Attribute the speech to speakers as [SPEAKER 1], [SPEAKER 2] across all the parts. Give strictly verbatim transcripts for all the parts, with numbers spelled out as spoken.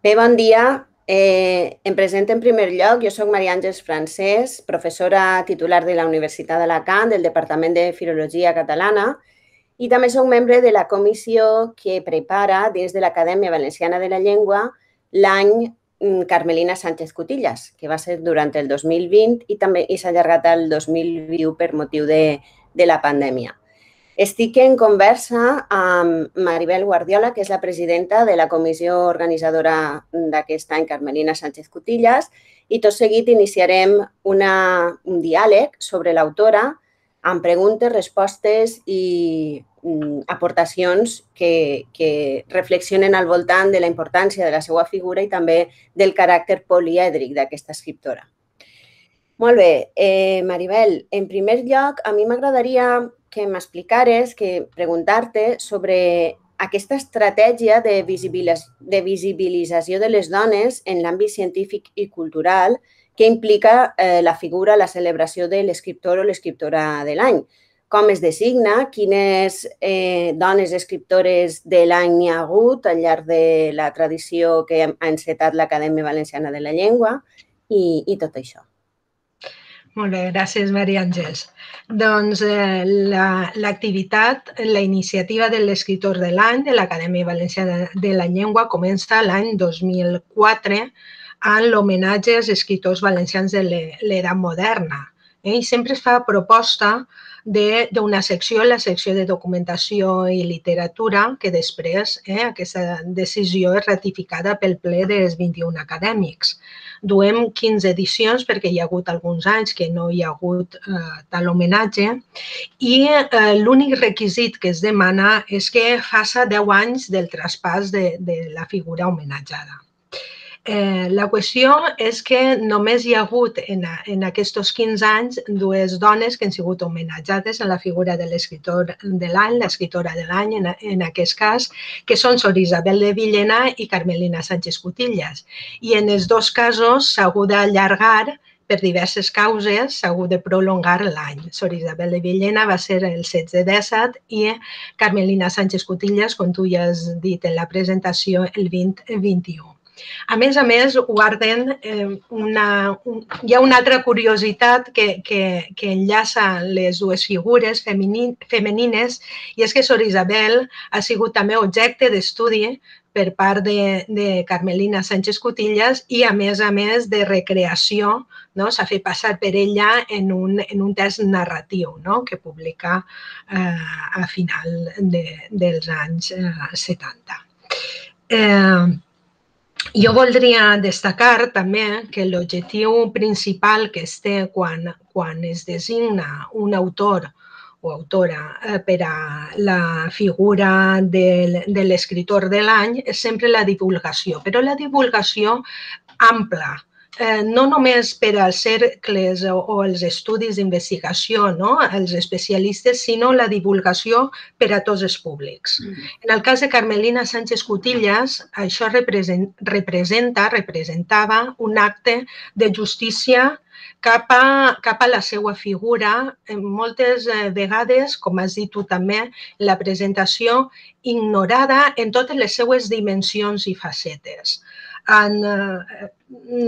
[SPEAKER 1] Bé, bon dia. Eh, em presento en primer lloc. Jo soc Maria Àngels Francés, professora titular de la Universitat d'Alacant, del Departament de Filologia Catalana, i també soc membre de la comissió que prepara dins de l'Acadèmia Valenciana de la Llengua l'any Carmelina Sánchez Cutillas, que va ser durant el dos mil vint i també s'ha allargat al dos mil vint u per motiu de, de la pandèmia. Estic en conversa amb Maribel Guardiola, que és la presidenta de la comissió organitzadora d'aquest any, Carmelina Sánchez Cutillas, i tot seguit iniciarem una, un diàleg sobre l'autora amb preguntes, respostes i mm, aportacions que, que reflexionen al voltant de la importància de la seva figura i també del caràcter polièdric d'aquesta escriptora. Molt bé, eh, Maribel, en primer lloc, a mi m'agradaria que m'explicares, que preguntar-te sobre aquesta estratègia de, visibilis de visibilització de les dones en l'àmbit científic i cultural que implica eh, la figura, la celebració de l'escriptor o l'escriptora de l'any. Com es designa, quines eh, dones escriptores de l'any n'hi ha hagut al llarg de la tradició que ha encetat l'Acadèmia Valenciana de la Llengua i, i tot això.
[SPEAKER 2] Molt bé, gràcies, Maria Àngels. Doncs eh, l'activitat, la, la iniciativa de l'escriptor de l'any de l'Acadèmia Valenciana de la Llengua comença l'any dos mil quatre en l'homenatge als escriptors valencians de l'edat moderna. Eh? I sempre es fa proposta d'una secció, la secció de documentació i literatura, que després eh, aquesta decisió és ratificada pel ple dels vint-i-un acadèmics. Duem quinze edicions perquè hi ha hagut alguns anys que no hi ha hagut eh, tal homenatge i eh, l'únic requisit que es demana és que faça deu anys del traspàs de, de la figura homenatjada. Eh, la qüestió és que només hi ha hagut en, en aquests quinze anys dues dones que han sigut homenatjades en la figura de l'escriptor de l'any, l'escriptora de l'any en, en aquest cas, que són Sor Isabel de Villena i Carmelina Sánchez Cutillas. I en els dos casos s'ha hagut d'allargar per diverses causes, s'ha hagut de prolongar l'any. Sor Isabel de Villena va ser el setze disset i Carmelina Sánchez Cutillas, com tu ja has dit en la presentació, el vint vint i u. A més a més, guarden eh, una, un, hi ha una altra curiositat que, que, que enllaça les dues figures feminin, femenines i és que Sor Isabel ha sigut també objecte d'estudi per part de, de Carmelina Sánchez Cutillas i, a més a més, de recreació, no? S'ha fet passar per ella en un, en un text narratiu, no? Que publica eh, a final de, dels anys eh, setanta. Eh, Jo voldria destacar també que l'objectiu principal que es té quan, quan es designa un autor o autora per a la figura de, de l'escriptor de l'any és sempre la divulgació, però la divulgació ampla, eh, no només per als cercles o, o els estudis d'investigació, no? Els especialistes, sinó la divulgació per a tots els públics. En el cas de Carmelina Sánchez Cutillas, això representa, representava un acte de justícia cap a, cap a la seva figura, moltes vegades, com has dit tu també, la presentació ignorada en totes les seues dimensions i facetes. En, eh,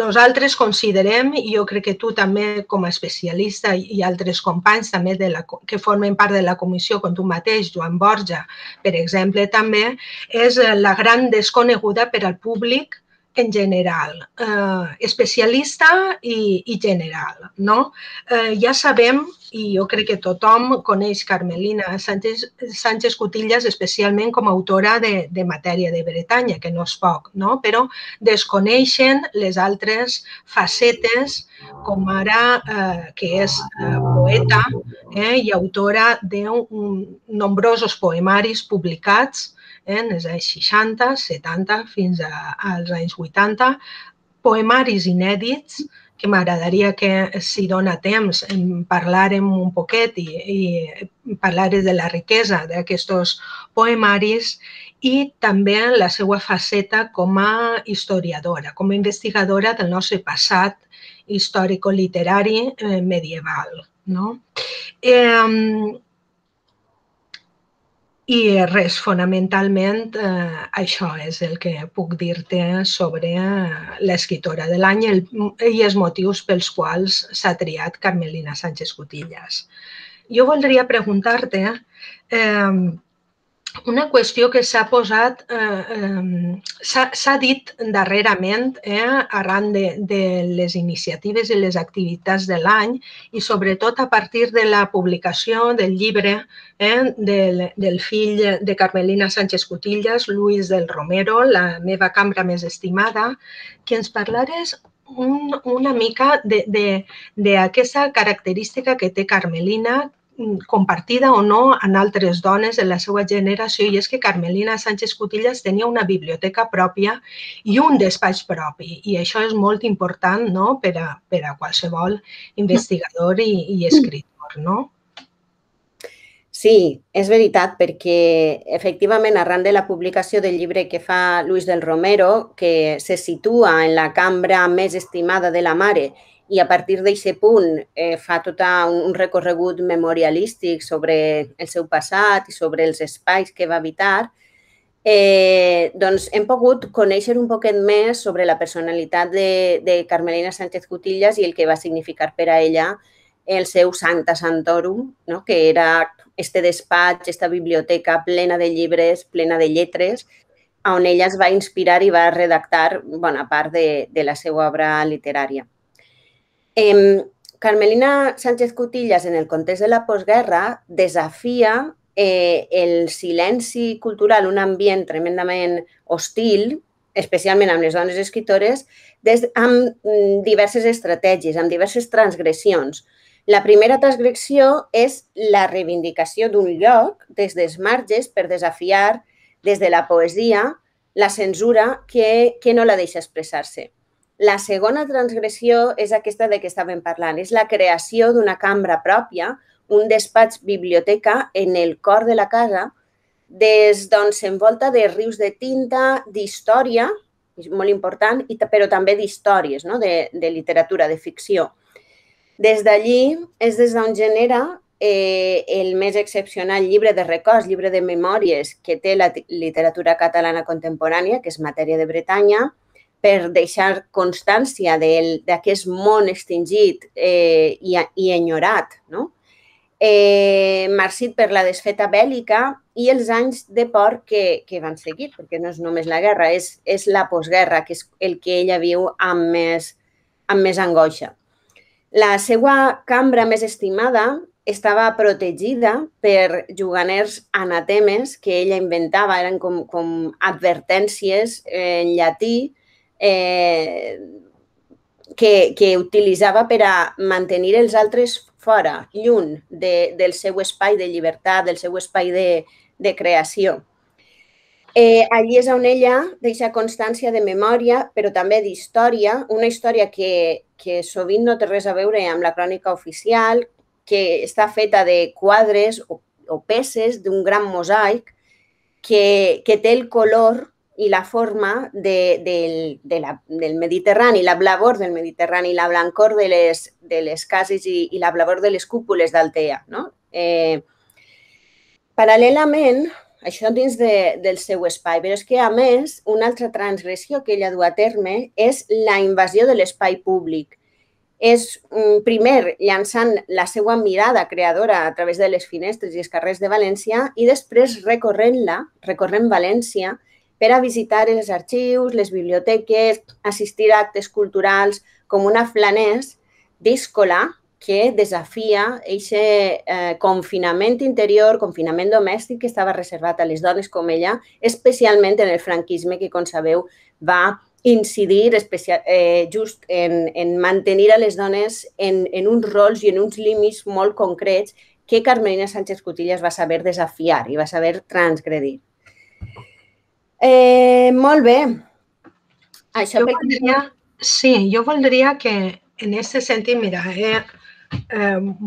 [SPEAKER 2] nosaltres considerem, i jo crec que tu també com a especialista i altres companys també de la, que formen part de la comissió, com tu mateix, Joan Borja, per exemple, també, és la gran desconeguda per al públic en general, eh, especialista i, i general, no? Eh, ja sabem, i jo crec que tothom coneix Carmelina Sánchez, Sánchez Cutillas especialment com a autora de, de Matèria de Bretanya, que no és poc, no? Però desconeixen les altres facetes, com ara eh, que és eh, poeta eh, i autora de un, nombrosos poemaris publicats en els anys seixanta, setanta, fins a, als anys vuitanta, poemaris inèdits, que m'agradaria que, si dona temps, en parlàrem un poquet i, i parlàrem de la riquesa d'aquests poemaris i també la seva faceta com a historiadora, com a investigadora del nostre passat històrico-literari eh, medieval, no? Eh, I res, fonamentalment, eh, això és el que puc dir-te sobre l'escriptora de l'any i els motius pels quals s'ha triat Carmelina Sánchez Cutillas. Jo voldria preguntar-te eh, una qüestió que s'ha posat, eh, eh, s'ha dit darrerament eh, arran de, de les iniciatives i les activitats de l'any i sobretot a partir de la publicació del llibre eh, del, del fill de Carmelina Sánchez Cutillas, Luis del Romero, La meva cambra més estimada, que ens parlares un, una mica d'aquesta característica que té Carmelina, compartida o no en altres dones de la seva generació, i és que Carmelina Sánchez Cutillas tenia una biblioteca pròpia i un despatx propi, i això és molt important, no?, per a, per a qualsevol investigador i, i escriptor, no?
[SPEAKER 1] Sí, és veritat, perquè efectivament arran de la publicació del llibre que fa Luis del Romero, que se situa en la cambra més estimada de la mare, i a partir d'aquest punt eh, fa tot un recorregut memorialístic sobre el seu passat i sobre els espais que va habitar, eh, doncs hem pogut conèixer un poquet més sobre la personalitat de, de Carmelina Sánchez Cutillas i el que va significar per a ella el seu Sancta Sanctorum, no?, que era este despatx, esta biblioteca plena de llibres, plena de lletres, on ella es va inspirar i va redactar bona part de, de la seva obra literària. Eh, Carmelina Sánchez Cutillas, en el context de la postguerra, desafia eh, el silenci cultural, un ambient tremendament hostil, especialment amb les dones escriptores, des, amb diverses estratègies, amb diverses transgressions. La primera transgressió és la reivindicació d'un lloc des dels marges per desafiar des de la poesia la censura que, que no la deixa expressar-se. La segona transgressió és aquesta de què estàvem parlant, és la creació d'una cambra pròpia, un despatx biblioteca en el cor de la casa, des d'on s'envolta de rius de tinta, d'història, és molt important, però també d'històries, no?, de, de literatura, de ficció. Des d'allí és des d'on genera eh, el més excepcional llibre de records, llibre de memòries que té la literatura catalana contemporània, que és Matèria de Bretanya, per deixar constància d'aquest món extingit eh, i, i enyorat, no? Eh, marcit per la desfeta bèl·lica i els anys de por que, que van seguir, perquè no és només la guerra, és, és la postguerra, que és el que ella viu amb més, amb més angoixa. La seva cambra més estimada estava protegida per juganers anatemes que ella inventava, eren com, com advertències en llatí, Eh, que, que utilitzava per a mantenir els altres fora, lluny de, del seu espai de llibertat, del seu espai de, de creació. Eh, allí és on ella deixa constància de memòria, però també d'història, una història que, que sovint no té res a veure amb la crònica oficial, que està feta de quadres o, o peces d'un gran mosaic que, que té el color i la forma de, de, de la, del Mediterrani, la blavor del Mediterrani, la blancor de les, de les cases i, i la blavor de les cúpules d'Altea, no? Eh, paral·lelament, això dins de, del seu espai, però és que, a més, una altra transgressió que ella du a terme és la invasió de l'espai públic. És, primer, llançant la seva mirada creadora a través de les finestres i els carrers de València i després recorrent-la, recorrent València, per a visitar els arxius, les biblioteques, assistir a actes culturals com una flanès díscola que desafia aquest eh, confinament interior, confinament domèstic que estava reservat a les dones com ella, especialment en el franquisme que, com sabeu, va incidir especial, eh, just en, en mantenir a les dones en, en uns rols i en uns límits molt concrets que Carmelina Sánchez Cutillas va saber desafiar i va saber transgredir. Eh, molt bé.
[SPEAKER 2] Això jo voldria, sí, jo voldria que en aquest sentit, mira, he,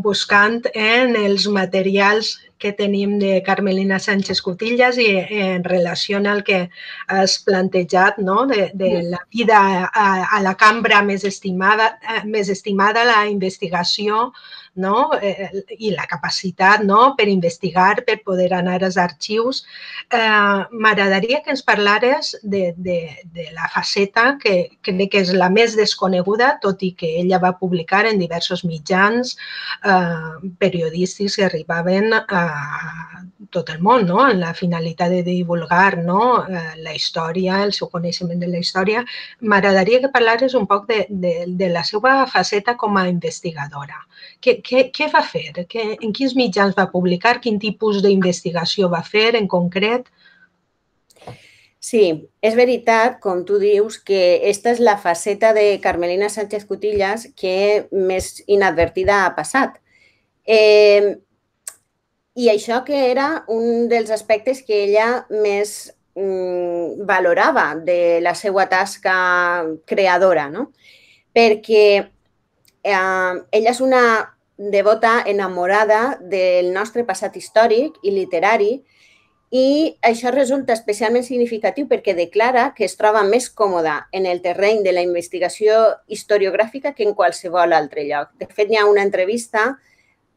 [SPEAKER 2] buscant en els materials que tenim de Carmelina Sánchez Cutillas i en relació al que has plantejat, no? de, de la vida a, a la cambra més estimada, més estimada, la investigació, no? eh, i la capacitat, no? per investigar, per poder anar als arxius. Eh, M'agradaria que ens parlares de, de, de la faceta que crec que és la més desconeguda, tot i que ella va publicar en diversos mitjans eh, periodístics que arribaven a tot el món, no? en la finalitat de divulgar, no? eh, la història, el seu coneixement de la història. M'agradaria que parlares un poc de, de, de la seva faceta com a investigadora. Què, què, què va fer? Què, en quins mitjans va publicar? Quin tipus d'investigació va fer en concret?
[SPEAKER 1] Sí, és veritat, com tu dius, que aquesta és la faceta de Carmelina Sánchez Cutillas que més inadvertida ha passat. Eh, I això que era un dels aspectes que ella més mm, valorava de la seva tasca creadora, no? Perquè eh, ella és una devota enamorada del nostre passat històric i literari, i això resulta especialment significatiu perquè declara que es troba més còmoda en el terreny de la investigació historiogràfica que en qualsevol altre lloc. De fet, hi ha una entrevista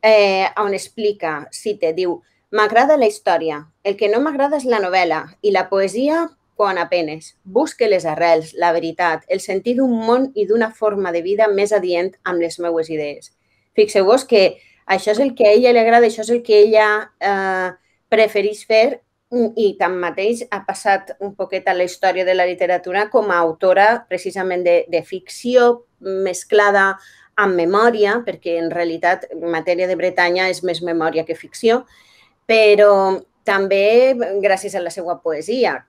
[SPEAKER 1] eh, on explica, cite, diu, «M'agrada la història, el que no m'agrada és la novel·la i la poesia quan apenes. Busque les arrels, la veritat, el sentit d'un món i d'una forma de vida més adient amb les meues idees». Fixeu-vos que això és el que a ella li agrada, això és el que ella eh, prefereix fer, i tanmateix ha passat un poquet a la història de la literatura com a autora precisament de, de ficció mesclada amb memòria, perquè en realitat en matèria de Bretanya és més memòria que ficció, però també gràcies a la seva poesia.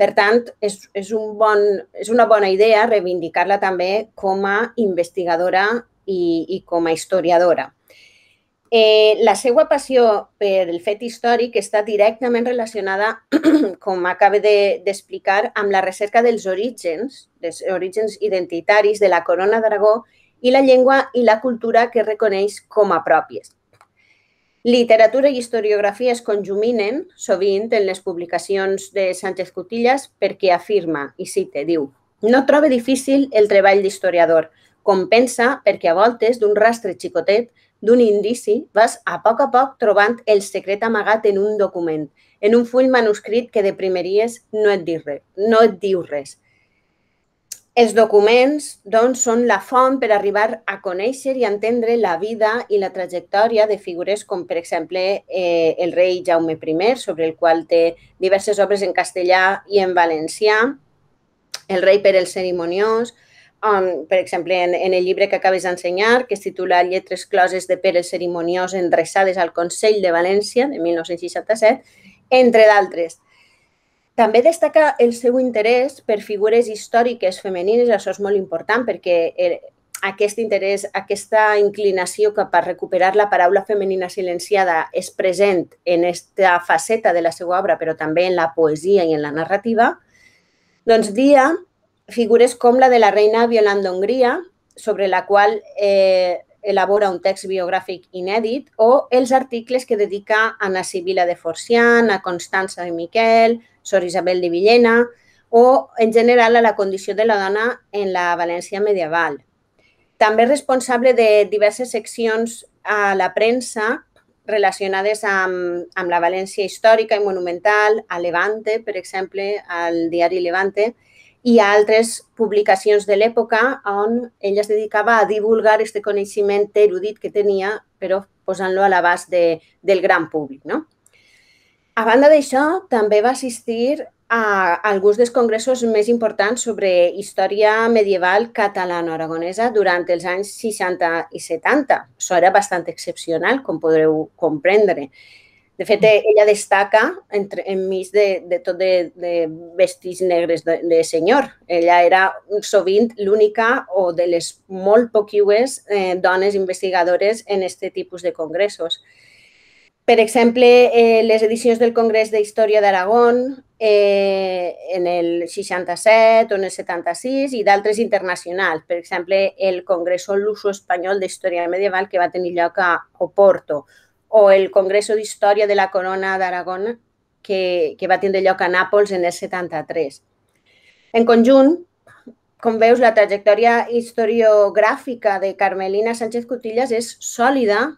[SPEAKER 1] Per tant, és, és, un bon, és una bona idea reivindicar-la també com a investigadora i, i com a historiadora. Eh, la seva passió per el fet històric està directament relacionada, com acaba d'explicar, amb la recerca dels orígens, dels orígens identitaris de la Corona d'Aragó i la llengua i la cultura que reconeix com a pròpies. Literatura i historiografia es conjuminen sovint en les publicacions de Sánchez Cutillas perquè afirma, i cite, diu, «No trobe difícil el treball d'historiador, com pensa perquè a voltes d'un rastre xicotet d'un indici, vas a poc a poc trobant el secret amagat en un document, en un full manuscrit que de primeries no et diu res. No et diu res. Els documents, doncs, són la font per arribar a conèixer i entendre la vida i la trajectòria de figures com, per exemple, eh, el rei Jaume primer, sobre el qual té diverses obres en castellà i en valencià, el rei Pere el Cerimoniós, Um, per exemple, en, en el llibre que acabes d'ensenyar, que es titula Lletres closes de Pere el Cerimoniós endreçades al Consell de València, de mil nou-cents seixanta-set, entre d'altres. També destaca el seu interès per figures històriques femenines, això és molt important perquè el, aquest interès, aquesta inclinació cap a recuperar la paraula femenina silenciada és present en aquesta faceta de la seva obra, però també en la poesia i en la narrativa. Doncs dia figures com la de la reina Violant d'Hongria, sobre la qual eh, elabora un text biogràfic inèdit, o els articles que dedica a Anna Sibila de Forcián, a Constança de Miquel, Sor Isabel de Villena, o en general a la condició de la dona en la València medieval. També és responsable de diverses seccions a la premsa relacionades amb, amb la València històrica i monumental, a Levante, per exemple, al diari Levante, i a altres publicacions de l'època on ella es dedicava a divulgar aquest coneixement erudit que tenia, però posant-lo a l'abast de, del gran públic. No? A banda d'això, també va assistir a alguns dels congressos més importants sobre història medieval catalano-aragonesa durant els anys seixanta i setanta. Això era bastant excepcional, com podreu comprendre. De fet, ella destaca entre, enmig de, de tot de, de vestits negres de, de senyor. Ella era sovint l'única o de les molt poquiues eh, dones investigadores en aquest tipus de congressos. Per exemple, eh, les edicions del Congrés d'Història d'Aragón eh, en el seixanta-set o en el setanta-sis i d'altres internacionals. Per exemple, el Congreso Luso-Espanyol d'Història Medieval que va tenir lloc a Oporto o el Congreso d'Història de la Corona d'Aragón que, que va tindre lloc a Nàpols en el setanta-tres. En conjunt, com veus, la trajectòria historiogràfica de Carmelina Sánchez Cutillas és sòlida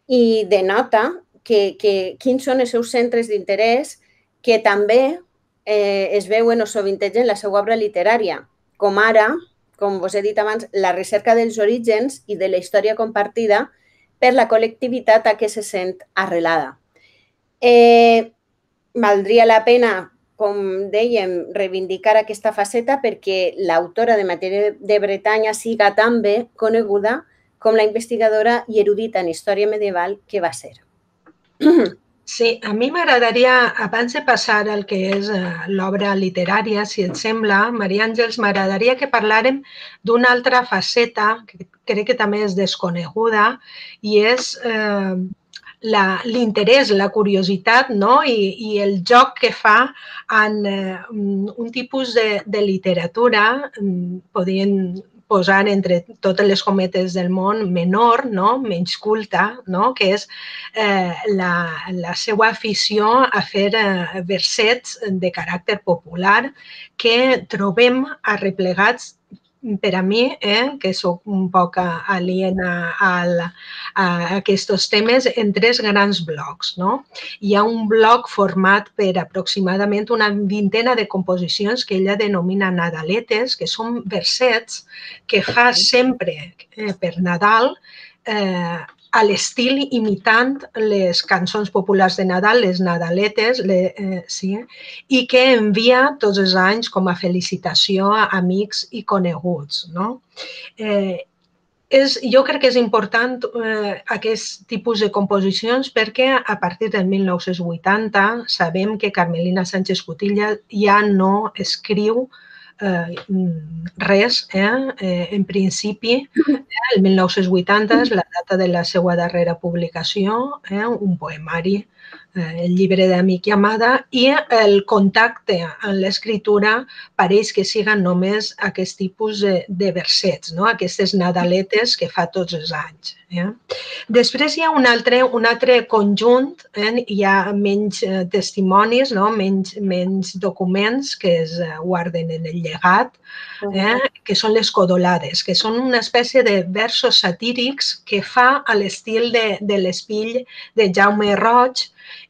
[SPEAKER 1] i denota que, que, quins són els seus centres d'interès que també eh, es veuen o sovintegen en la seva obra literària, com ara, com vos he dit abans, la recerca dels orígens i de la història compartida per la col·lectivitat a què se sent arrelada. Eh, valdria la pena, com dèiem, reivindicar aquesta faceta perquè l'autora de Matèria de Bretanya siga tan bé coneguda com la investigadora i erudita en història medieval que va ser.
[SPEAKER 2] Sí, a mi m'agradaria, abans de passar al que és l'obra literària, si et sembla, Maria Àngels, m'agradaria que parlàrem d'una altra faceta que crec que també és desconeguda i és eh, l'interès, la, la curiositat, no? I, i el joc que fa en eh, un tipus de, de literatura, podien posar entre totes les cometes del món menor, no? Menys culta, no? Que és eh, la, la seva afició a fer eh, versets de caràcter popular que trobem arreplegats per a mi, eh, que soc un poc aliena a, a aquests temes, en tres grans blocs. No? Hi ha un bloc format per aproximadament una vintena de composicions que ella denomina nadaletes, que són versets que fa sempre eh, per Nadal eh, a l'estil imitant les cançons populars de Nadal, les nadaletes, le, eh, sí, i que envia tots els anys com a felicitació a amics i coneguts. No? Eh, és, jo crec que és important eh, aquest tipus de composicions perquè a partir del mil nou-cents vuitanta sabem que Carmelina Sánchez Cutillas ja no escriu Eh, res, eh? Eh, en principi, eh, el mil nou-cents vuitanta és la data de la seva darrera publicació, eh? Un poemari, eh, el llibre d'Amic i Amada, i el contacte en l'escriptura pareix que siguen només aquest tipus de, de versets, no? Aquestes nadaletes que fa tots els anys. Eh? Després hi ha un altre, un altre conjunt, eh? Hi ha menys eh, testimonis, no? menys, menys documents que es guarden en el llegat, eh? que són les codolades, que són una espècie de versos satírics que fa a l'estil de, de l'espill de Jaume Roig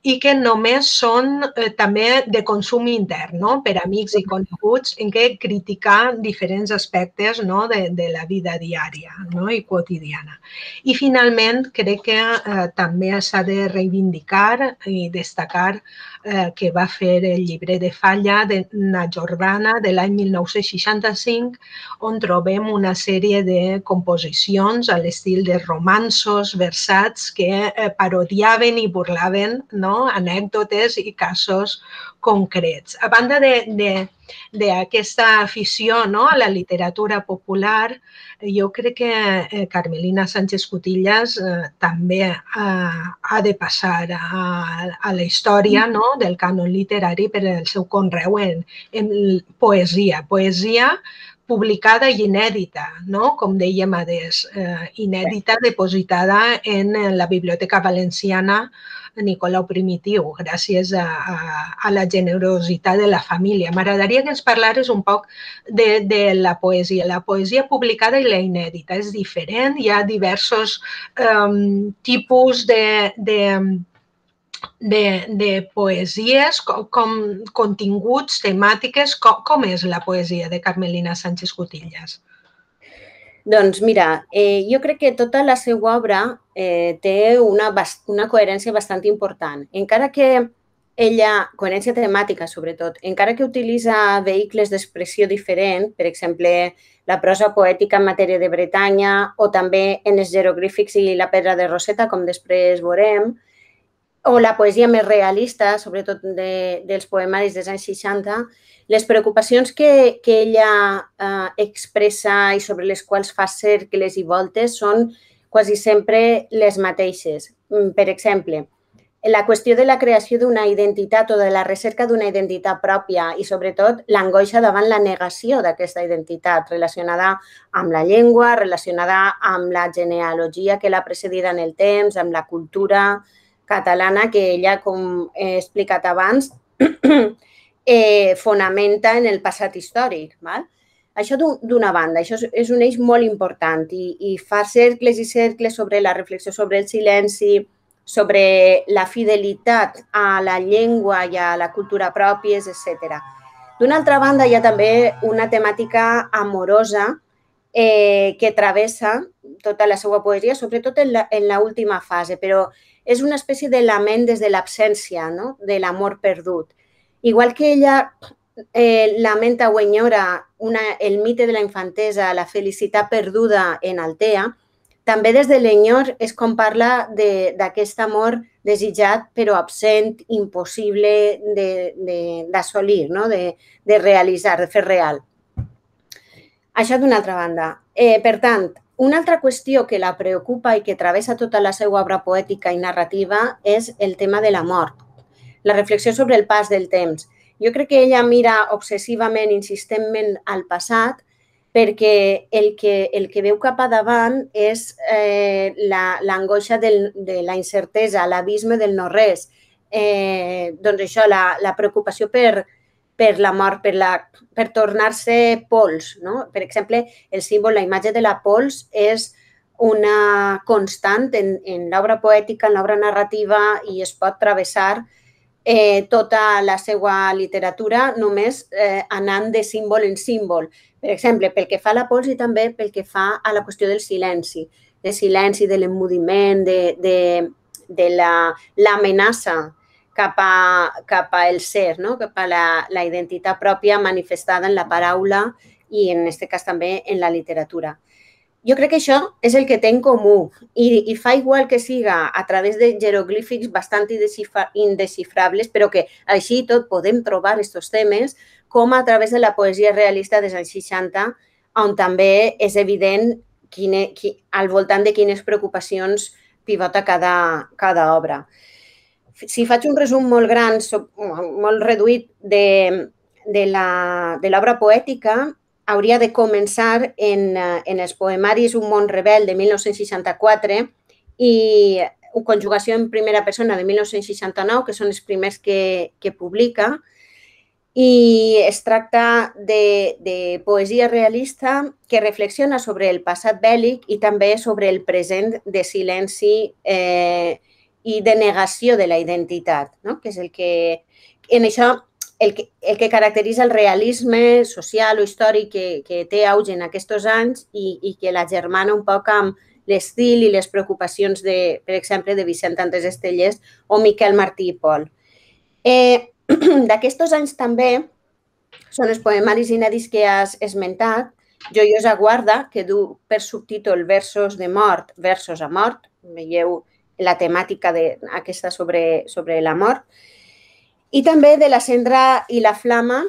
[SPEAKER 2] i que només són eh, també de consum intern, no? Per amics i coneguts, en què criticar diferents aspectes, no? de, de la vida diària, no? I quotidiana. I finalment crec que eh, també s'ha de reivindicar i destacar eh, que va fer el llibre de Falla de Na Jordana de l'any mil nou-cents seixanta-cinc, on trobem una sèrie de composicions a l'estil de romanços versats que eh, parodiaven i burlaven, no? Anècdotes i casos concrets. A banda d'aquesta afició, no? A la literatura popular, jo crec que eh, Carmelina Sánchez Cutillas eh, també eh, ha de passar a, a la història, no? Del cànon literari per el seu conreu en, en poesia. Poesia publicada i inèdita, no? Com dèiem adés, eh, inèdita, depositada en la Biblioteca Valenciana Nicolau Primitiu, gràcies a, a, a la generositat de la família. M'agradaria que ens parlares un poc de, de la poesia. La poesia publicada i la inèdita és diferent, hi ha diversos um, tipus de, de, de, de poesies, com, com continguts, temàtiques. Com, com és la poesia de Carmelina Sánchez Cutillas?
[SPEAKER 1] Doncs mira, eh, jo crec que tota la seva obra eh, té una, una coherència bastant important. Encara que ella, coherència temàtica sobretot, encara que utilitza vehicles d'expressió diferent, per exemple, la prosa poètica en matèria de Bretanya o també en els jeroglífics i la pedra de Roseta, com després veurem, o la poesia més realista, sobretot de, dels poemaris dels anys seixanta, les preocupacions que, que ella eh, expressa i sobre les quals fa cercles i voltes són quasi sempre les mateixes. Per exemple, la qüestió de la creació d'una identitat o de la recerca d'una identitat pròpia i, sobretot, l'angoixa davant la negació d'aquesta identitat relacionada amb la llengua, relacionada amb la genealogia que l'ha precedida en el temps, amb la cultura catalana que ella, com he explicat abans, eh, fonamenta en el passat històric. Val? Això d'una banda, això és un eix molt important i, i fa cercles i cercles sobre la reflexió sobre el silenci, sobre la fidelitat a la llengua i a la cultura pròpies, etcètera. D'una altra banda, hi ha també una temàtica amorosa eh, que travessa tota la seva poesia, sobretot en l'última fase, però és una espècie de lament des de l'absència, no? De l'amor perdut. Igual que ella eh, lamenta o enyora una, el mite de la infantesa, la felicitat perduda en Altea, també des de l'enyor és com parla d'aquest amor desitjat però absent, impossible d'assolir, no? de, de realitzar, de fer real. Això d'una altra banda. Eh, per tant, una altra qüestió que la preocupa i que travessa tota la seva obra poètica i narrativa és el tema de la mort, la reflexió sobre el pas del temps. Jo crec que ella mira obsessivament, insistentment al passat, perquè el que, el que veu cap a davant és eh, l'angoixa la, de la incertesa, l'abisme del no-res. Eh, doncs això, la, la preocupació per, per la mort, per, la, per tornar-se pols. No? Per exemple, el símbol, la imatge de la pols és una constant en, en l'obra poètica, en l'obra narrativa i es pot travessar eh, tota la seva literatura només eh, anant de símbol en símbol. Per exemple, pel que fa a la pols i també pel que fa a la qüestió del silenci, del silenci, de l'emmudiment, de, de, de l'amenaça cap, a, cap al ser, no? Cap a la, la identitat pròpia manifestada en la paraula i en aquest cas també en la literatura. Jo crec que això és el que té en comú i, i fa igual que siga a través de jeroglífics bastant indescifrables, però que així tot podem trobar aquests temes com a través de la poesia realista dels anys seixanta, on també és evident quine, qui, al voltant de quines preocupacions pivota cada, cada obra. Si faig un resum molt gran, molt reduït de, de l'obra poètica, hauria de començar en, en els poemaris Un món rebel de mil nou-cents seixanta-quatre i Conjugació en primera persona de mil nou-cents seixanta-nou, que són els primers que, que publica, i es tracta de, de poesia realista que reflexiona sobre el passat bèl·lic i també sobre el present de silenci eh, i de negació de la identitat, no? Que és el que... En això, el que, el que caracteritza el realisme social o històric que, que té auge en aquests anys i, i que la germana un poc amb l'estil i les preocupacions, de, per exemple, de Vicent Andrés Estellés o Miquel Martí i Pol. Eh, D'aquests anys també són els poemaris inèdits que has esmentat, Joiosa guarda, que du per subtítol Versos de mort, versos a mort, veieu la temàtica aquesta sobre, sobre la mort, i també de La cendra i la flama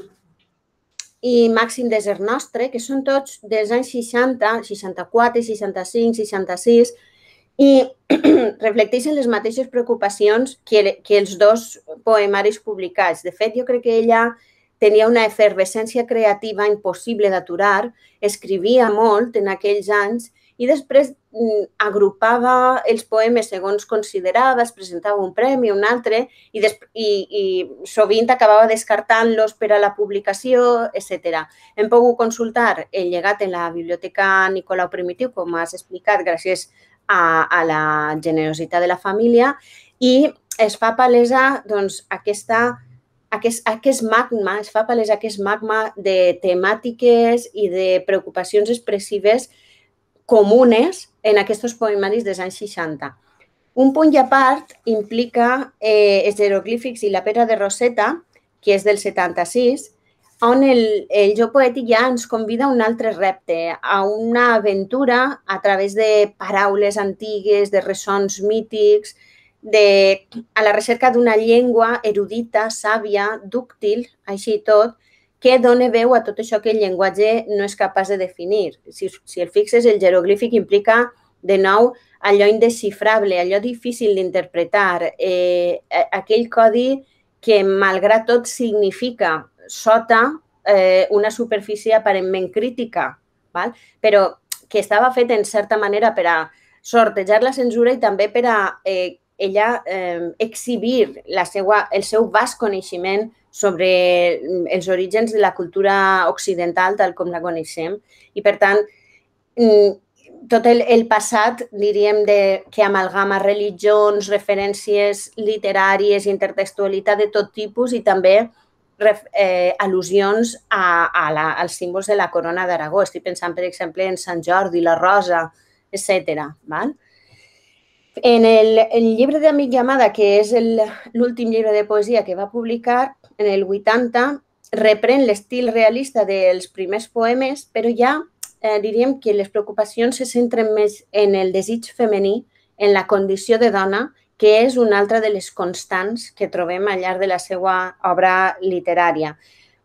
[SPEAKER 1] i Màxim desert nostre, que són tots dels anys seixanta, seixanta-quatre, seixanta-cinc, seixanta-sis, i reflecteixen les mateixes preocupacions que, que els dos poemaris publicats. De fet, jo crec que ella tenia una efervescència creativa impossible d'aturar, escrivia molt en aquells anys i després agrupava els poemes segons considerava, es presentava un premi, un altre, i, i, i sovint acabava descartant-los per a la publicació, etcètera. Hem pogut consultar el llegat en la Biblioteca Nicolau Primitiu, com has explicat, gràcies a, a la generositat de la família, i es fa palesa doncs, aquesta, aquest, aquest magma, es fa palesa aquest magma de temàtiques i de preocupacions expressives comunes en aquests poemaris dels anys seixanta. Un punt i a part implica eh, els jeroglífics i la pedra de Roseta, que és del setanta-sis, on el, el joc poètic ja ens convida a un altre repte, a una aventura a través de paraules antigues, de ressons mítics, de, a la recerca d'una llengua erudita, sàvia, dúctil, així i tot, que dona veu a tot això que el llenguatge no és capaç de definir. Si, si el fixes, el jeroglífic implica de nou, allò indesxifrable, allò difícil d'interpretar, eh, aquell codi que, malgrat tot, significa sota eh, una superfície aparentment crítica, val? Però que estava fet, en certa manera, per a sortejar la censura i també per a eh, ella eh, exhibir la seva, el seu vast coneixement sobre els orígens de la cultura occidental, tal com la coneixem. I, per tant, tot el, el passat, diríem, de, que amalgama religions, referències literàries, intertextualitat de tot tipus i també eh, al·lusions a, a la, als símbols de la corona d'Aragó. Estic pensant, per exemple, en Sant Jordi, la Rosa, etcètera. En el, el llibre d'Amic i Amada, que és l'últim llibre de poesia que va publicar, en el vuitanta, reprèn l'estil realista dels primers poemes, però ja eh, diríem que les preocupacions se centren més en el desig femení, en la condició de dona, que és una altra de les constants que trobem al llarg de la seva obra literària.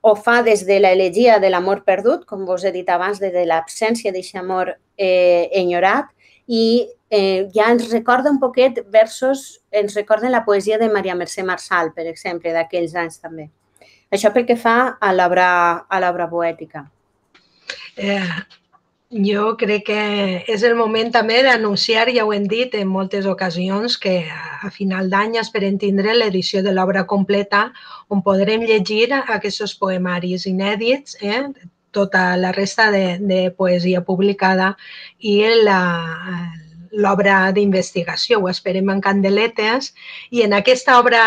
[SPEAKER 1] Ho fa des de l'elegia de l'amor perdut, com vos he dit abans, des de l'absència d'aquest amor eh, enyorat, i eh, ja ens recorda un poquet versos, ens recorden la poesia de Maria Mercè Marçal, per exemple, d'aquells anys també. Això pel que fa a l'obra poètica.
[SPEAKER 2] Eh, jo crec que és el moment també d'anunciar, ja ho hem dit en moltes ocasions, que a final d'any esperem tindre l'edició de l'obra completa on podrem llegir aquests poemaris inèdits, eh? Tota la resta de, de poesia publicada i l'obra d'investigació. Ho esperem en candeletes i en aquesta obra,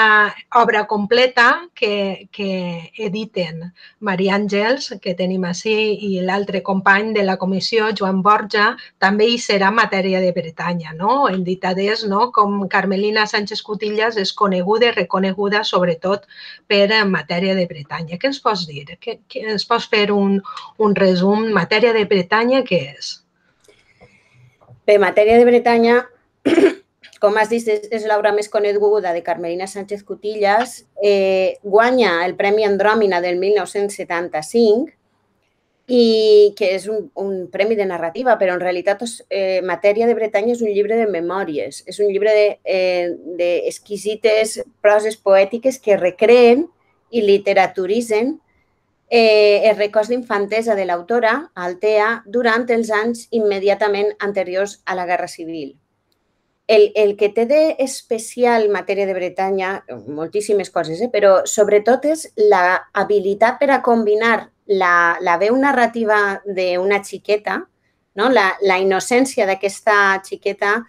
[SPEAKER 2] obra completa que, que editen Maria Àngels, que tenim així, i l'altre company de la comissió, Joan Borja, també hi serà matèria de Bretanya, no? En ditades, no? Com Carmelina Sánchez Cutillas és coneguda i reconeguda sobretot per matèria de Bretanya. Què ens pots dir? Què, què ens pots fer un, un resum? Matèria de Bretanya, què és?
[SPEAKER 1] Bé, Matèria de Bretanya, com has dit, és, és l'obra més coneguda de Carmelina Sánchez Cutillas. Eh, guanya el Premi Andròmina del mil nou-cents setanta-cinc, i que és un, un premi de narrativa, però en realitat eh, Matèria de Bretanya és un llibre de memòries, és un llibre d'exquisites de, eh, proses poètiques que recreen i literaturitzen Eh, els records d'infantesa de l'autora, Altea, durant els anys immediatament anteriors a la Guerra Civil. El, el que té d'especial Matèria de Bretanya, moltíssimes coses, eh, però sobretot és l'habilitat per a combinar la, la veu narrativa d'una xiqueta, no? la, la innocència d'aquesta xiqueta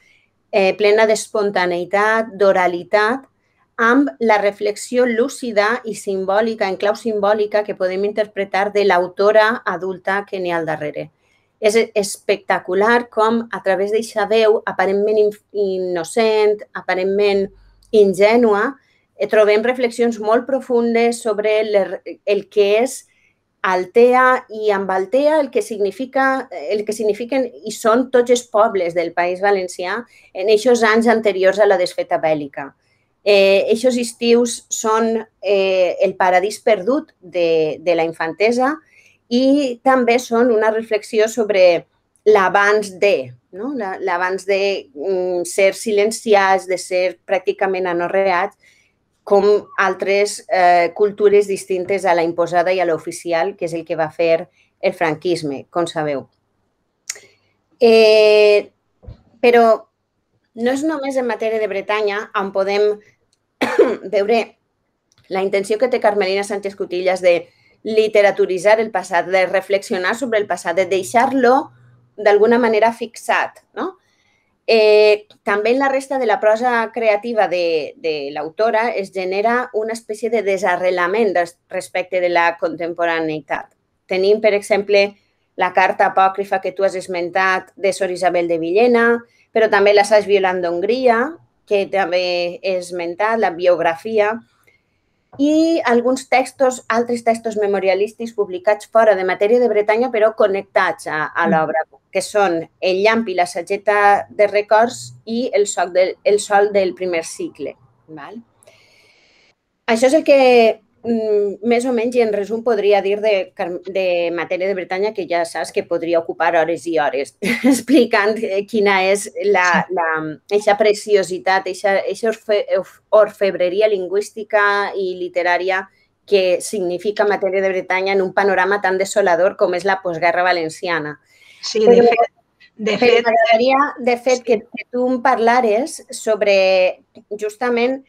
[SPEAKER 1] eh, plena d'espontaneïtat, d'oralitat, amb la reflexió lúcida i simbòlica, en clau simbòlica, que podem interpretar de l'autora adulta que n'hi ha al darrere. És espectacular com, a través d'aquesta veu aparentment innocent, aparentment ingènua, trobem reflexions molt profundes sobre el que és Altea i amb Altea el que significa, el que signifiquen i són tots els pobles del País Valencià en aquests anys anteriors a la desfeta bèl·lica. Eh, Eixos estius són eh, el paradís perdut de, de la infantesa i també són una reflexió sobre l'abans de, no? l'abans de mm, ser silenciats, de ser pràcticament anorreats, com altres eh, cultures distintes a la imposada i a l'oficial, que és el que va fer el franquisme, com sabeu. Eh, però no és només en Matèria de Bretanya on podem veure la intenció que té Carmelina Sánchez Cutillas de literaturitzar el passat, de reflexionar sobre el passat, de deixar-lo d'alguna manera fixat. No? Eh, també en la resta de la prosa creativa de, de l'autora es genera una espècie de desarrelament respecte de la contemporaneïtat. Tenim, per exemple, la carta apòcrifa que tu has esmentat de Sor Isabel de Villena, però també l'assaig violant d'Hongria, que també he esmentat, la biografia, i alguns textos, altres textos memorialístics publicats fora de Matèria de Bretanya, però connectats a, a l'obra, que són El llamp i la sageta de records i El sol del, el sol del primer cicle. Val? Això és el que més o menys, i en resum, podria dir de, de Matèria de Bretanya, que ja saps que podria ocupar hores i hores explicant quina és la, la, eixa preciositat, eixa, eixa orfe, orfebreria lingüística i literària que significa Matèria de Bretanya en un panorama tan desolador com és la postguerra valenciana.
[SPEAKER 2] Sí, de
[SPEAKER 1] Però,
[SPEAKER 2] fet, de
[SPEAKER 1] però
[SPEAKER 2] fet,
[SPEAKER 1] m'agradaria, de fet, sí. que, que tu em parlares sobre justament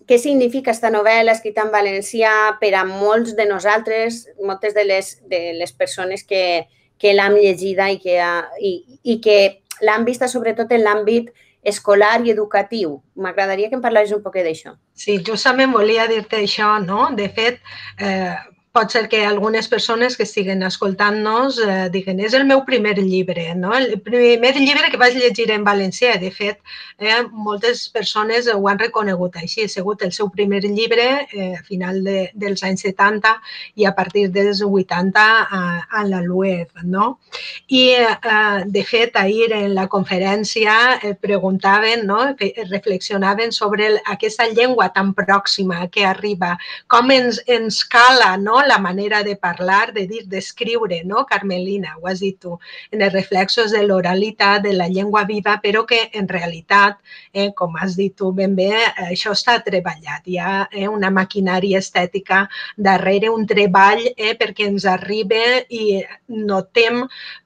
[SPEAKER 1] què significa aquesta novel·la escrita en valencià per a molts de nosaltres, moltes de les, de les persones que, que l'han llegida i que, ha, i, i que l'han vista sobretot en l'àmbit escolar i educatiu. M'agradaria que em parlaris un poc d'això.
[SPEAKER 2] Sí, justament volia dir-te això, no? De fet, eh, pot ser que algunes persones que estiguen escoltant-nos eh, diguen és el meu primer llibre, no? El primer llibre que vaig llegir en valencià. De fet, eh, moltes persones ho han reconegut així. Ha sigut el seu primer llibre eh, a final de, dels anys setanta i a partir dels vuitanta a, a la L U E F, no? I, eh, de fet, ahir en la conferència eh, preguntaven, no? Reflexionaven sobre el, aquesta llengua tan pròxima que arriba, com ens, ens cala, no? La manera de parlar, de dir, d'escriure, no? Carmelina, ho has dit tu, en els reflexos de l'oralitat, de la llengua viva, però que en realitat, eh, com has dit tu ben bé, això està treballat. Hi ha eh, una maquinària estètica darrere, un treball eh, perquè ens arribi i notem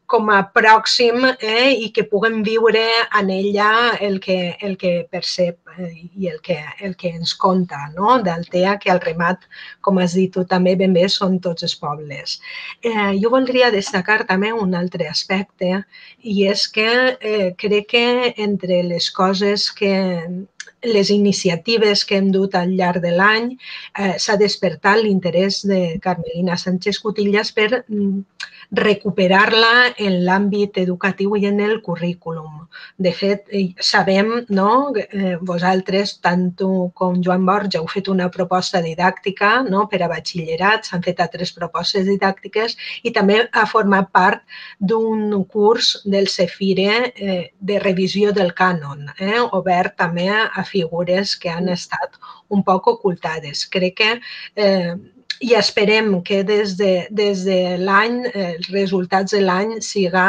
[SPEAKER 2] com a pròxim eh, i que puguem viure en ella el que, el que percep eh, i el que, el que ens conta, no? d'Altea, que al remat, com has dit tu també ben bé, són tots els pobles. Eh, jo voldria destacar també un altre aspecte i és que eh, crec que entre les coses que les iniciatives que hem dut al llarg de l'any eh, s'ha despertat l'interès de Carmelina Sánchez Cutillas per recuperar-la en l'àmbit educatiu i en el currículum. De fet, sabem, no?, eh, vosaltres, tant tu com Joan Borja, heu fet una proposta didàctica no?, per a batxillerat, s'han fet altres propostes didàctiques i també ha format part d'un curs del Cefire eh, de revisió del cànon, eh, obert també a figures que han estat un poc ocultades. Crec que eh, i esperem que des de, des de l'any, eh, els resultats de l'any, siga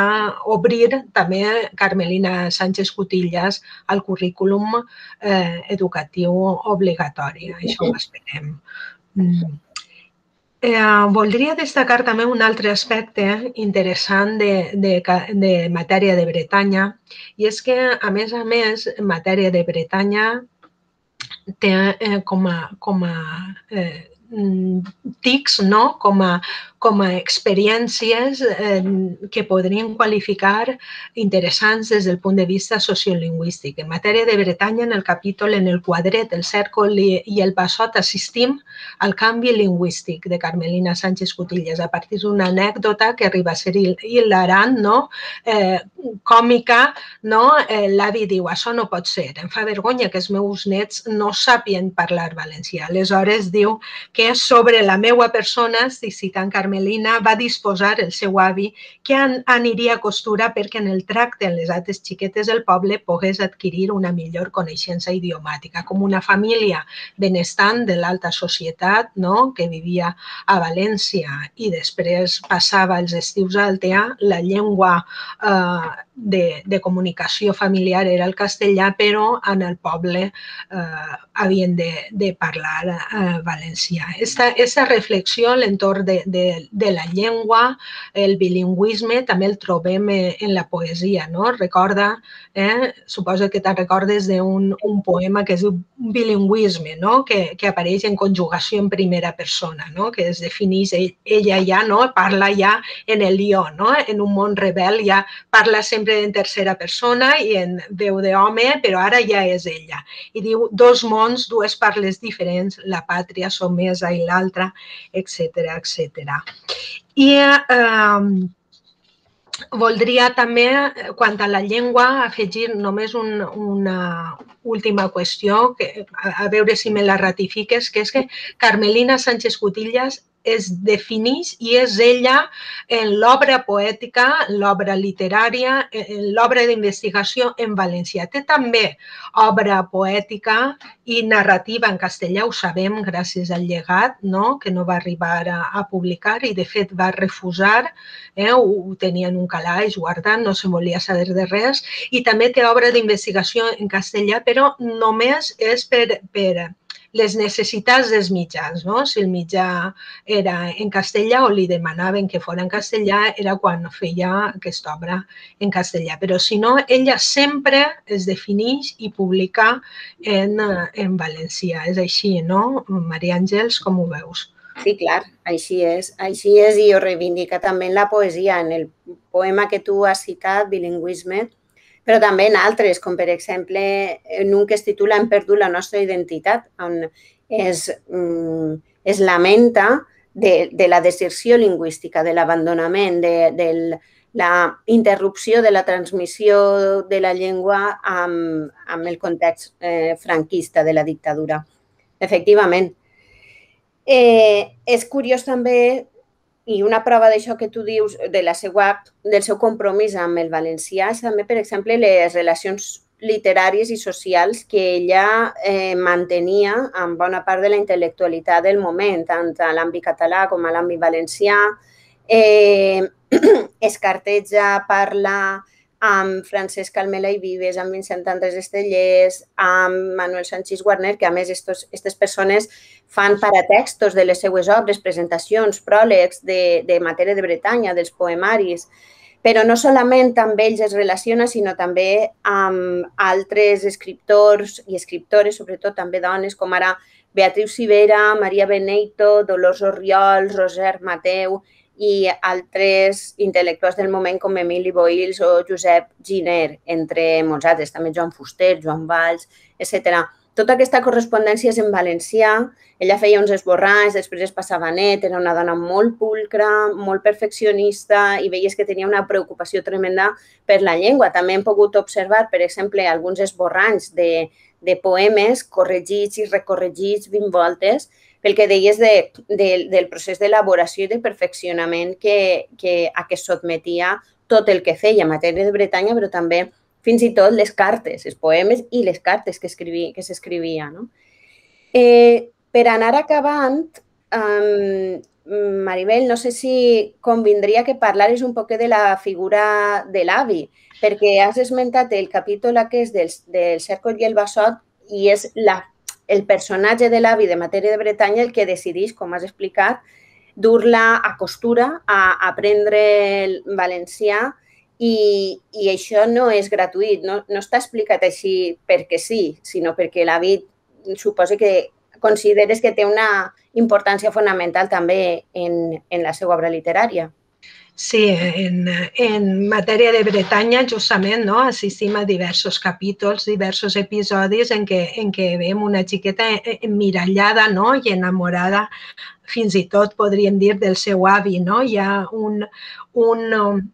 [SPEAKER 2] obrir també Carmelina Sánchez Cutillas al currículum eh, educatiu obligatori. Això ho esperem. Mm. Eh, voldria destacar també un altre aspecte interessant de, de, de Matèria de Bretanya i és que, a més a més, Matèria de Bretanya té eh, com a, com a eh, tics, no? com, a, com a experiències eh, que podríem qualificar interessants des del punt de vista sociolingüístic. En Matèria de Bretanya, en el capítol, en el quadret, el cèrcol i, i el bassot, assistim al canvi lingüístic de Carmelina Sánchez Cutillas a partir d'una anècdota que arriba a ser hilarant, no? eh, còmica, no? Eh, l'avi diu, això no pot ser, em fa vergonya que els meus nets no sàpien parlar valencià. Aleshores diu que sobre la meva persona, citant Carmelina, va disposar el seu avi que aniria a costura perquè en el tracte amb les altres xiquetes del poble pogués adquirir una millor coneixença idiomàtica, com una família benestant de l'alta societat, no?, que vivia a València i després passava els estius a Altea, la llengua eh, de, de comunicació familiar era el castellà, però en el poble eh, havien de, de parlar eh, valencià. Aquesta reflexió a l'entorn de, de, de la llengua, el bilingüisme, també el trobem en la poesia, no? Recorda, eh, suposo que te'n recordes d'un un poema que es diu Bilingüisme, no? Que, que apareix en conjugació en primera persona, no? Que es defineix ella ja, no? Parla ja en el jo, no? En un món rebel ja parla sempre en tercera persona i en veu d'home, però ara ja és ella. I diu dos mons, dues parles diferents, la pàtria somesa i l'altra, etcètera, etcètera. I eh, voldria també, quant a la llengua, afegir només un, una, última qüestió, que, a, a veure si me la ratifiques, que és que Carmelina Sánchez Cutillas es defineix i és ella en l'obra poètica, l'obra literària, en l'obra d'investigació en valencià. Té també obra poètica i narrativa en castellà, ho sabem gràcies al llegat, no? Que no va arribar a, a publicar i de fet va refusar, eh? ho, ho tenia en un calaix guardat, no se volia saber de res, i també té obra d'investigació en castellà, però només és per, per les necessitats dels mitjans, no? Si el mitjà era en castellà o li demanaven que fos en castellà, era quan feia aquesta obra en castellà. Però si no, ella sempre es defineix i publica en, en valencià. És així, no, Maria Àngels, com ho veus?
[SPEAKER 1] Sí, clar, així és. Així és i ho reivindica també en la poesia, en el poema que tu has citat, Bilingüisme, però també en altres, com per exemple en un que es titula Hem perdut la nostra identitat, on es, es lamenta de, de la deserció lingüística, de l'abandonament, de, de la interrupció de la transmissió de la llengua amb, amb el context eh, franquista de la dictadura. Efectivament. Eh, és curiós també, i una prova d'això que tu dius, de la seva, del seu compromís amb el valencià, és també, per exemple, les relacions literàries i socials que ella eh, mantenia amb bona part de la intel·lectualitat del moment, tant a l'àmbit català com a l'àmbit valencià. Eh, es carteja, parla amb Francesc Almela i Vives, amb Vicent Andrés Estellés, amb Manuel Sanchis Guarner, que a més aquestes persones fan paratextos de les seues obres, presentacions, pròlegs de, de Matèria de Bretanya, dels poemaris, però no solament amb ells es relaciona, sinó també amb altres escriptors i escriptores, sobretot també dones, com ara Beatriu Civera, Maria Beneito, Dolors Orriols, Roser Mateu i altres intel·lectuals del moment com Emili Boïls o Josep Giner, entre molts altres, també Joan Fuster, Joan Valls, etcètera. Tota aquesta correspondència és en valencià, ella feia uns esborranys, després es passava net, era una dona molt pulcra, molt perfeccionista i veies que tenia una preocupació tremenda per la llengua. També hem pogut observar, per exemple, alguns esborranys de, de poemes corregits i recorregits vint voltes, pel que deies de, de, del procés d'elaboració i de perfeccionament que, que, a què sotmetia tot el que feia, Matèria de Bretanya, però també fins i tot les cartes, els poemes i les cartes que s'escrivia. No? Eh, per anar acabant, um, Maribel, no sé si convindria que parlares un poc de la figura de l'avi, perquè has esmentat el capítol aquest del, del Cèrcol i el Bassot i és la el personatge de l'avi de Matèria de Bretanya el que decideix, com has explicat, dur-la a costura, a aprendre el valencià i, i això no és gratuït, no, no està explicat així perquè sí, sinó perquè l'avi suposa que consideres que té una importància fonamental també en, en la seva obra literària.
[SPEAKER 2] Sí, en, en Matèria de Bretanya justament no, assistim a diversos capítols, diversos episodis en què, en què veiem una xiqueta emmirallada no, i enamorada, fins i tot podríem dir del seu avi. No? Hi ha un, un,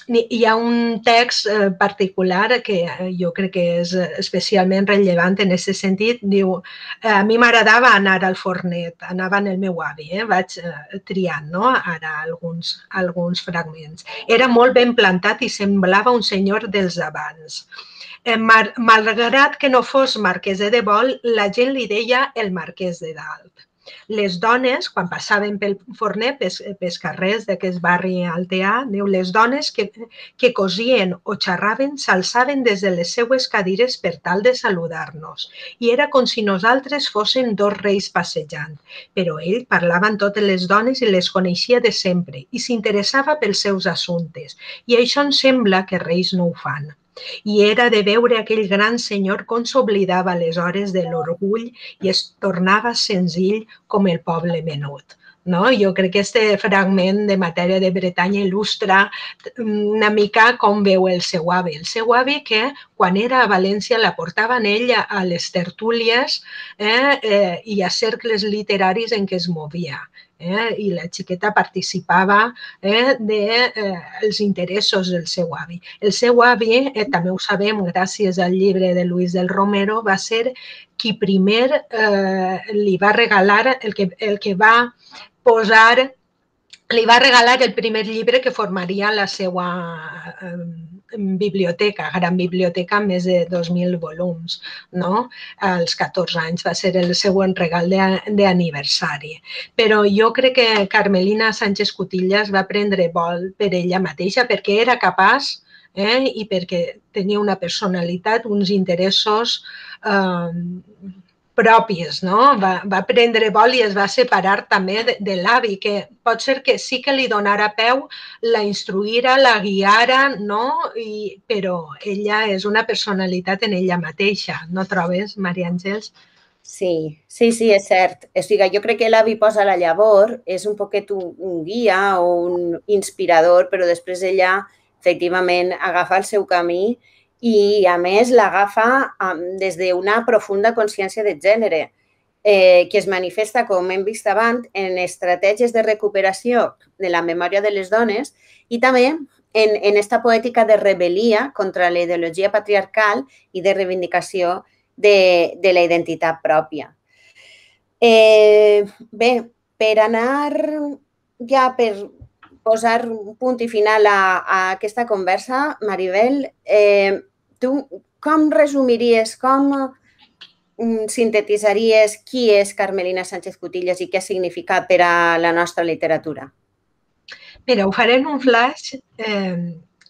[SPEAKER 2] hi ha un text particular que jo crec que és especialment rellevant en aquest sentit. Diu, a mi m'agradava anar al fornet, anava en el meu avi, eh? Vaig triant no? Ara alguns, alguns fragments. Era molt ben plantat i semblava un senyor dels abans. Malgrat que no fos marquès de Debol, la gent li deia el marquès de Dalt. Les dones, quan passaven pel forner, pels carrers d'aquest barri alteà, les dones que, que cosien o xerraven s'alçaven des de les seues cadires per tal de saludar-nos. I era com si nosaltres fóssim dos reis passejant. Però ell parlava amb totes les dones i les coneixia de sempre i s'interessava pels seus assumptes. I això em sembla que reis no ho fan. I era de veure aquell gran senyor com s'oblidava aleshores de l'orgull i es tornava senzill com el poble menut. No? Jo crec que aquest fragment de Matèria de Bretanya il·lustra una mica com veu el seu avi. El seu avi que quan era a València la portaven ell a les tertúlies eh, eh, i a cercles literaris en què es movia. eh? I la xiqueta participava eh, dels de, eh, interessos del seu avi. El seu avi, eh, també ho sabem gràcies al llibre de Luis del Romero, va ser qui primer eh, li va regalar, el que, el que va posar, li va regalar el primer llibre que formaria la seva eh, biblioteca, gran biblioteca amb més de dos mil volums, no? Als catorze anys va ser el següent regal d'aniversari. Però jo crec que Carmelina Sánchez Cutillas va prendre vol per ella mateixa perquè era capaç eh, i perquè tenia una personalitat, uns interessos eh, propis, no? Va, va prendre vol i es va separar també de, de l'avi, que pot ser que sí que li donara peu, la instruïra, la guiara, no? I, però ella és una personalitat en ella mateixa, no trobes, Maria Àngels?
[SPEAKER 1] Sí, sí, sí, és cert. O sigui, jo crec que l'avi posa la llavor, és un poquet un, un guia o un inspirador, però després ella, efectivament, agafa el seu camí i, a més, l'agafa des d'una profunda consciència de gènere, eh, que es manifesta, com hem vist abans, en estratègies de recuperació de la memòria de les dones i també en, en esta poètica de rebel·lia contra la ideologia patriarcal i de reivindicació de, de la identitat pròpia. Eh, bé, per anar ja per posar un punt i final a, a aquesta conversa, Maribel, eh, tu com resumiries, com sintetitzaries qui és Carmelina Sánchez Cutillas i què ha significat per a la nostra literatura?
[SPEAKER 2] Mira, ho faré en un flash. Eh,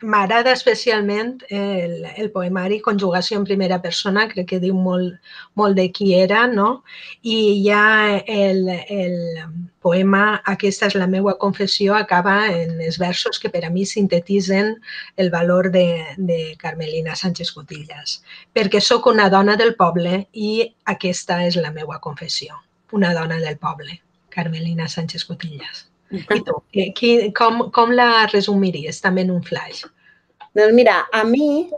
[SPEAKER 2] M'agrada especialment el, el poemari Conjugació en primera persona, crec que diu molt, molt de qui era, no? I ja el, el poema Aquesta és la meua confessió acaba en els versos que per a mi sintetitzen el valor de, de Carmelina Sánchez Cutillas. Perquè sóc una dona del poble i aquesta és la meua confessió. Una dona del poble, Carmelina Sánchez Cutillas. I tu, qui, com, com la resumiries també en un flash?
[SPEAKER 1] Doncs mira, a mi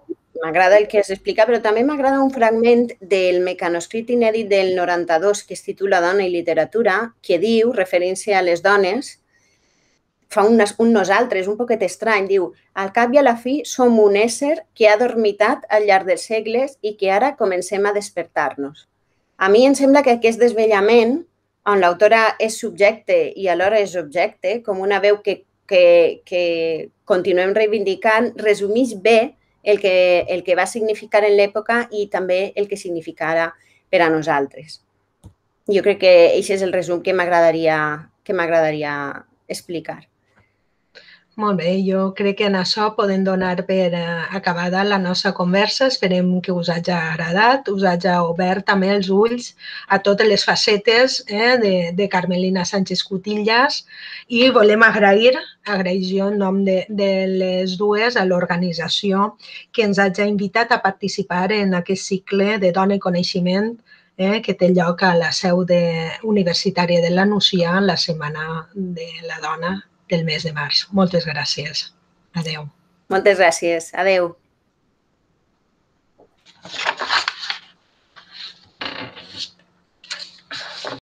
[SPEAKER 1] m'agrada el que has explicat, però també m'agrada un fragment del mecanoscrit inèdit del noranta-dos que es titula Dona i literatura, que diu, referint-se a les dones, fa un, un nosaltres, un poquet estrany, diu, al cap i a la fi som un ésser que ha dormitat al llarg dels segles i que ara comencem a despertar-nos. A mi em sembla que aquest desvellament, on l'autora és subjecte i alhora és objecte, com una veu que, que, que continuem reivindicant, resumeix bé el que, el que va significar en l'època i també el que significarà per a nosaltres. Jo crec que aquest és el resum que m'agradaria que m'agradaria explicar.
[SPEAKER 2] Molt bé, jo crec que en això podem donar per acabada la nostra conversa. Esperem que us hagi agradat, us hagi obert també els ulls a totes les facetes eh, de, de Carmelina Sánchez Cutillas i volem agrair, agrair jo en nom de, de les dues a l'organització que ens hagi invitat a participar en aquest cicle de Dona i Coneixement eh, que té lloc a la seu de, universitària de la Nucia la Setmana de la Dona del mes de març. Moltes gràcies. Adéu.
[SPEAKER 1] Moltes gràcies. Adéu.